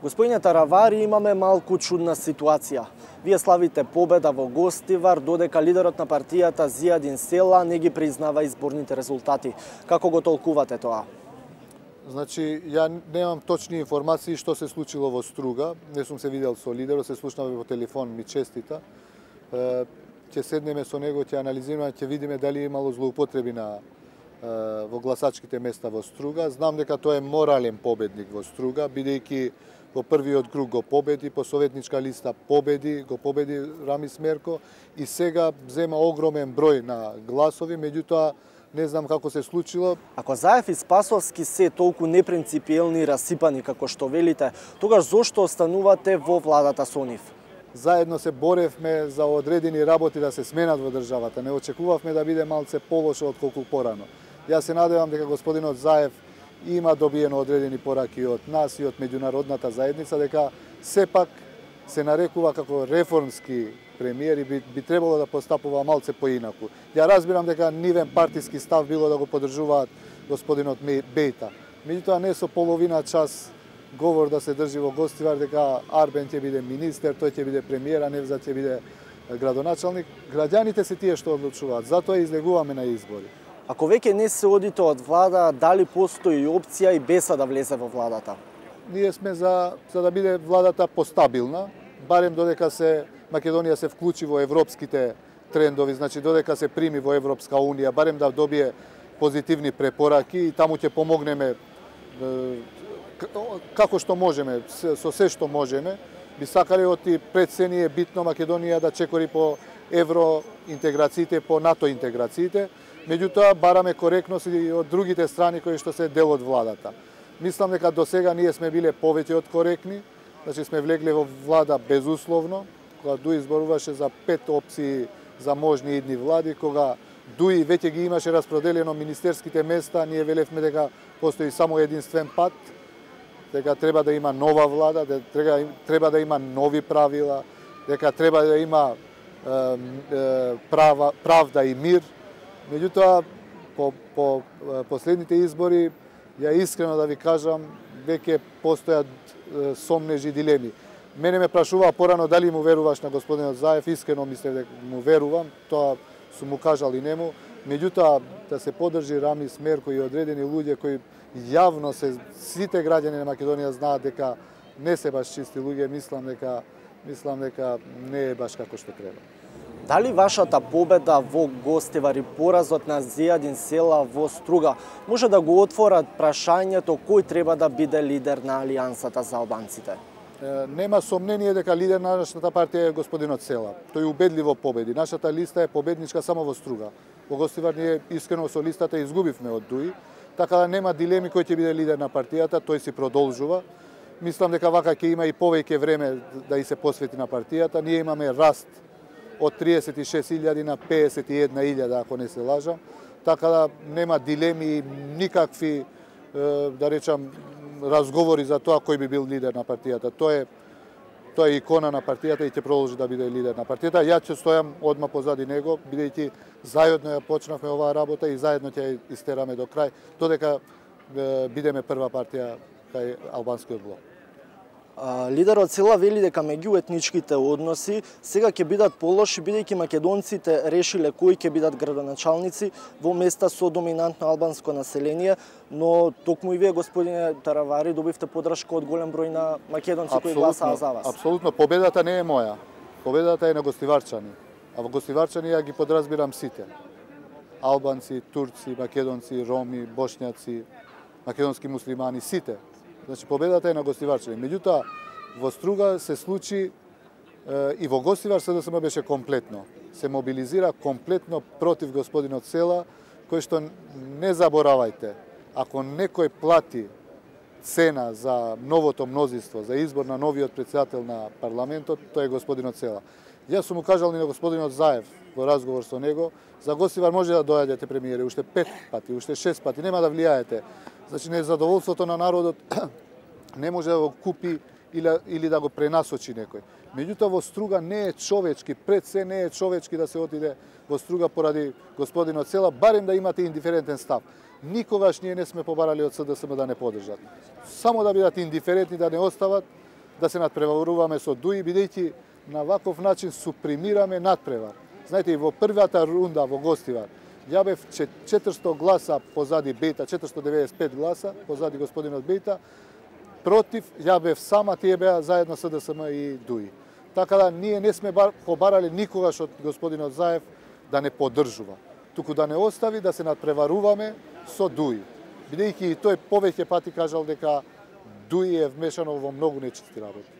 Господине Таравари, имаме малку чудна ситуација. Вие славите победа во Гостивар, додека лидерот на партијата Зијадин Села не ги признава изборните резултати. Како го толкувате тоа? Значи, ја немам точни информации што се случило во Струга. Не сум се видел со лидерот, се слушнавме по телефон, ми честита. Ќе седнеме со него, ќе анализираме, ќе видиме дали имало злоупотреби во гласачките места во Струга. Знам дека тој е морален победник во Струга, бидејќи во првиот круг го победи, по советничка листа го победи Рамис Мерко и сега зема огромен број на гласови, меѓутоа не знам како се случило. Ако Заев и Спасовски се толку непринципиелни и расипани како што велите, тогаш зошто останувате во владата со нив? Заедно се боревме за одредени работи да се сменат во државата. Не очекувавме да биде малце полошо отколку порано. Јас се надевам дека господинот Заев има добиено одредени пораки од нас и од меѓународната заедница, дека сепак се нарекува како реформски премиер и би требало да постапува малце поинаку. Ја разбирам дека нивен партиски став било да го поддржуваат господинот Бејта. Меѓутоа не со половина час говор да се држи во Гостивар дека Арбен ќе биде министер, тој ќе биде премиер, а Невзат ќе биде градоначалник. Граѓаните се тие што одлучуваат, затоа излегуваме на избори. Ако веќе не се одите од влада, дали постои опција и Беса да влезе во владата? Ние сме за да биде владата постабилна, барем додека Македонија се вклучи во европските трендови, значи додека се прими во Европска унија, барем да добие позитивни препораки и таму ќе помогнеме како што можеме, со се што можеме. Би сакале оти пред се ни е битно Македонија да чекори по евроинтеграциите, по НАТО интеграциите, меѓутоа бараме коректност и од другите страни кои што се дел од владата. Мислам дека до сега ние сме биле повеќе од коректни, значи сме влегле во влада безусловно, кога Дуи изборуваше за 5 опции за можни идни влади, кога Дуи веќе ги имаше распроделено министерските места, ние велевме дека постои само единствен пат, дека треба да има нова влада, дека треба да има нови правила, дека треба да има правда и мир. Меѓутоа, по последните избори, ја искрено да ви кажам, веќе постојат сомнежи дилеми. Мене ме прашуваа порано дали му веруваш на господинот Заев, искрено мислев дека му верувам, тоа сум му кажал и нему. Меѓутоа, да се поддржи Рамис Мерко и одредени луѓе кои јавно сите граѓани на Македонија знаат дека не се баш чисти луѓе, мислам дека не е баш како што треба. Дали вашата победа во Гостивар и поразот на Зијадин Села во Струга може да го отворат прашањето кој треба да биде лидер на Алијансата за албанците? Нема сомнение дека лидер на нашата партија е господинот Села. Тој убедливо победи. Нашата листа е победничка само во Струга. Во Гостивар ние искрено со листата изгубивме од Дуи, така да нема дилеми кој ќе биде лидер на партијата, тој си продолжува. Мислам дека вака ќе има и повеќе време да и се посвети на партијата. Ние имаме раст од 36.000 на 51.000, ако не се лажам. Така да нема дилеми, никакви, да речам, разговори за тоа кој би бил лидер на партијата. Тој е икона на партијата и ќе продолжи да биде лидер на партијата. Ја ќе стојам одма позади него, бидејќи заедно ја почнавме оваа работа и заедно ќе ја истераме до крај, додека бидеме прва партија кај албанскиот блок. Лидерот Села вели дека меѓуетничките односи сега ќе бидат полоши бидејќи македонците решиле кои ќе бидат градоначалници во места со доминантно албанско население, но токму и вие, господине Таравари, добивте поддршка од голем број на македонци кои гласаа за вас. Апсолутно, победата не е моја. Победата е на гостиварчани. А во гостиварчани ја ги подразбирам сите. Албанци, турци, македонци, роми, бошњаци, македонски муслимани, сите. Значи, победата е на гостиварчани. Меѓутоа, во Струга се случи и во Гостивар СДСМ беше комплетно. Се мобилизира комплетно против господинот Села, кој што не заборавајте, ако некој плати цена за новото мнозинство, за избор на новиот претседател на парламентот, тој е господинот Села. Јас сум му кажал и на господинот Заев во разговор со него, за Гостивар може да доаѓате премиери уште 5 пати, уште 6 пати, нема да влијаете. Значи, незадоволството на народот не може да го купи или да го пренасочи некој. Меѓутоа, во Струга не е човечки, пред се не е човечки да се отиде во Струга поради господинот Села, барем да имате индиферентен став. Никогаш ние не сме побарали од СДСМ да не поддржат. Само да бидат индиферентни, да не остават, да се надпреваруваме со Дуи, бидејќи на ваков начин супримираме надпревар. Знаете, и во првата рунда во гостивар, ја бев 400 гласа позади Бејта, 495 гласа позади господинот Бејта, против ја бев сама, тие беа заедно СДСМ и Дуи. Така да ние не сме побарале никогаш од господинот Заев да не поддржува, туку да не остави да се надпреваруваме со Дуи. Бидејќи и тој повеќе пати кажал дека Дуи е вмешано во многу нечисти работи.